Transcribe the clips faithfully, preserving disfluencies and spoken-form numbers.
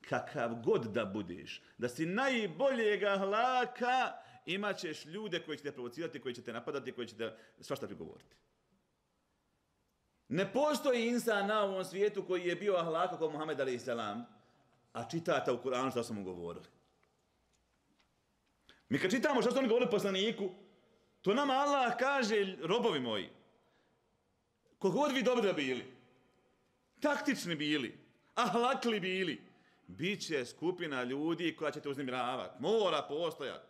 kakav god da budeš, da si najboljeg ahlaka, imat ćeš ljude koji će te provocirati, koji će te napadati, koji će te svašta prigovoriti. Ne postoji insan na ovom svijetu koji je bio ahlaka kao Muhammed alejhi selam, a čitata u Kur'anu što su mu govorili. Mi kad čitamo što su oni govorili poslaniku, to nama Allah kaže, robovi moji, kogod vi dobro bili, taktični bili, ahlakli bili, bit će skupina ljudi koja će te uznemiravati. Mora postojati.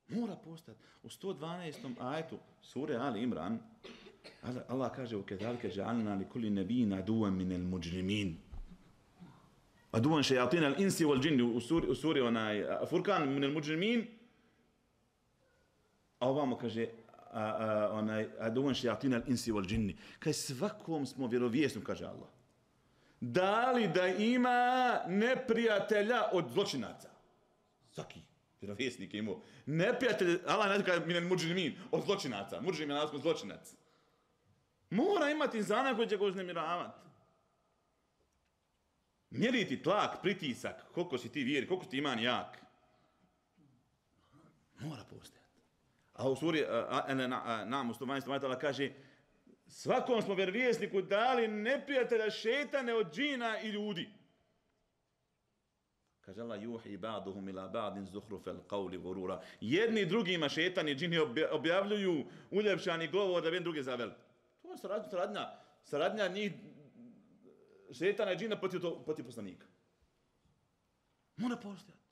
Mora postojati. U sto dvanaestom ajetu sure Ali Imran, Allah kaže u kedalike ja'alna li kulli nebijin aduvan minel muđrimin. Aduvan šejatina al insi wal džinni u suri, u suri onaj Furkan minel muđrimin. A ovamo kaže a, a, onaj aduvan šejatina al insi wal džinni. Kaj svakom smo vjerovjesnom, kaže Allah. Da li da ima neprijatelja od zločinaca? Svaki vjerovjesnik je imao. Neprijatelj, Allah ne kaže minel muđrimin, od zločinaca. Muđrim je nasko zločinac. Mora imati insana koji će ga uznemiravati. Mjeriti tlak, pritisak, koliko si ti vjeri, koliko si ti iman jak. Mora postojati. A u suri nam u sto dvanaestom ajetu Allah kaže svakom smo vjerovjesniku dali neprijatelja šetane od džina i ljudi. Kaže Allah, juhi ba'duhum ila ba'din zuhrufel qawli gurura. Jedni drugima šetani džini objavljuju uljepšani govor da bi druge zaveli. To je saradnja, saradnja, saradnja njih šetana i džina protiv, protiv poslanika. Mora postojati.